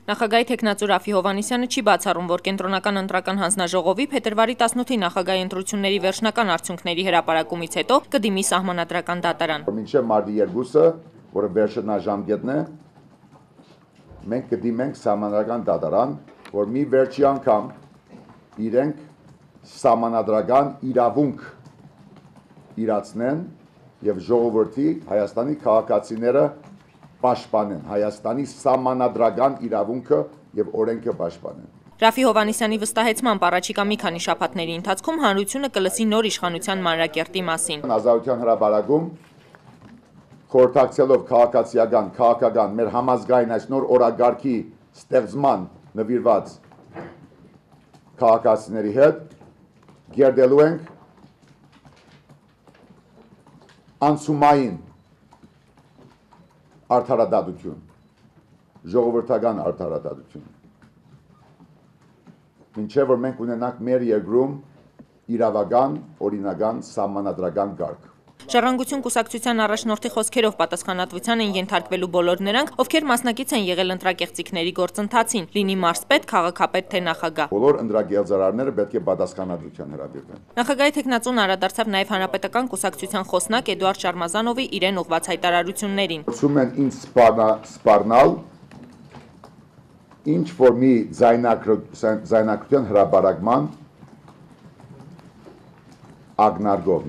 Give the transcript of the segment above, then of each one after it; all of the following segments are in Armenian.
Նախագահի թեկնածու Ռաֆի Հովհաննիսյանը չի բացառում, որ կենտրոնական ընտրական հանձնաժողովի փետրվարի 18-ի նախագահի ընտրությունների վերջնական արդյունքների հրապարակումից հետո կդիմի սահմանադրական դատարան։ Մինչև մարտի 2-ը, որը վերջնաժամկետն է, մենք կդիմենք սահմանադրական դատարան, որ մի վերջի անգամ իրենք սահմանադրական իրավունք իրացնեն եւ ժողովրդի Հայաստանի քաղաքացիները պաշտպանեն, Հայաստանի սահմանադրական իրավունքը եւ օրենքը պաշտպանեն։ Ռաֆի Հովհաննիսյանի վստահեցմամբ առաջիկա մի քանի շաբաթների ընթացքում հանրությունը կլսի նոր իշխանության մանրակերտի մասին։ Ազատության հրապարակում խորհրդակցելով քաղաքական մեր համազգային այս նոր օրագարկի ստեղծման նվիրված քաղաքացիների հետ գերդելու ենք անցումային արդարադատություն, ժողովրդական արդարադատություն։ Մինչև որ մենք ունենանք մեր երկրում իրավական, օրինական, սահմանադրական կարգ։ Ժառանգություն կուսակցության առաջնորդի խոսքերով պատասխանատվության են ենթարկվելու բոլոր նրանք, ովքեր մասնակից են եղել ընտրակեղծիքների գործընթացին, լինի մարզպետ, քաղաքապետ թե նախագահ։ Բոլոր ընտրագեղձարարները պետք է պատասխանատվության հրավիրվեն։ Նախագահի թեկնածուն անդրադարձավ նաև հանրապետական կուսակցության խոսնակ Էդուարդ Շարմազանովի իրեն ուղղված հայտարարություններին։ Ասում են ինձ սպառնալ ինչ որ մի ձայնակրության հրապարակման ագնարգով,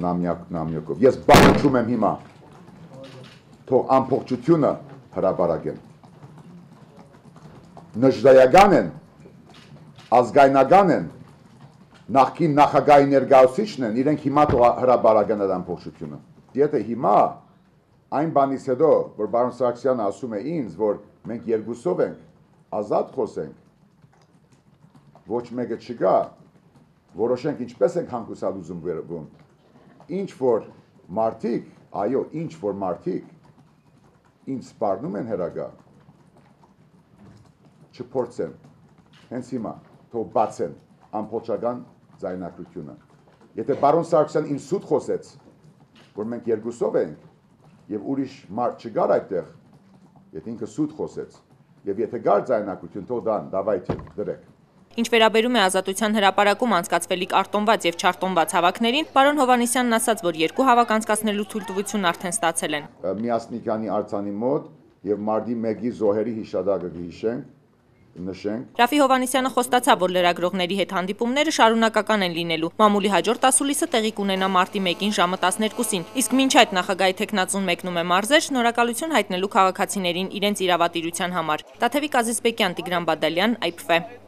նամյակով։ Ես բանջում եմ հիմա, թող ամբողջությունը հրապարակեն։ Նժդայական են, ազգայնական են, նախկին նախագահի ներկայացուցիչն են, իրենք հիմա թող հրապարակեն այդ ամբողջությունը։ Եթե հիմա այն բանից հետո, որ պարոն Սարգսյանը ասում է ինձ, որ մենք երկուսով ենք, ազատ խոսենք, ոչ մեկը չկա, որոշենք ինչպես ենք հանգուցալ ուզում վերվում, ինչ որ մարդիկ, այո, ինչ որ մարդիկ ինձ սպառնում են հրագա, չփորձեն, հենց հիմա, թող բացեն ամբողջական ձայնակրությունը։ Եթե պարոն Սարգսյան ինձ սուտ խոսեց, որ մենք երկուսով ենք եւ ուրիշ մարդ չգար այդտեղ, եթե ինքը սուտ խոսեց, եւ եթե գար ձայնակրություն, թող դավայթի դրեք։ Ինչ վերաբերում է ազատության հրապարակում անցկացվելիք արտոնված եւ չարտոնված հավաքներին, պարոն Հովհաննիսյանն ասաց, որ երկու հավաք անցկացնելու թույլտվություն արդեն ստացել են։ Միասնիկանի արձանի մոտ եւ մարտի 1-ի զոհերի հիշադակը նշենք։ Ռաֆի Հովհաննիսյանը խոստացավ, որ լրագրողների հետ հանդիպումները շարունակական են լինելու։ Մամուլի հաջորդ ասուլիսը տեղի կունենա մարտի 1-ին ժամը 12-ին, իսկ մինչ այդ նախագահի թեկնածուն մեկնում է մարզեր շնորհակալություն հայտնելու քաղաքացիներին իրենց իրավատիրության համար։ Տաթևիկ Ազիզբեկյան, Տիգրան Բադալյան, IPV։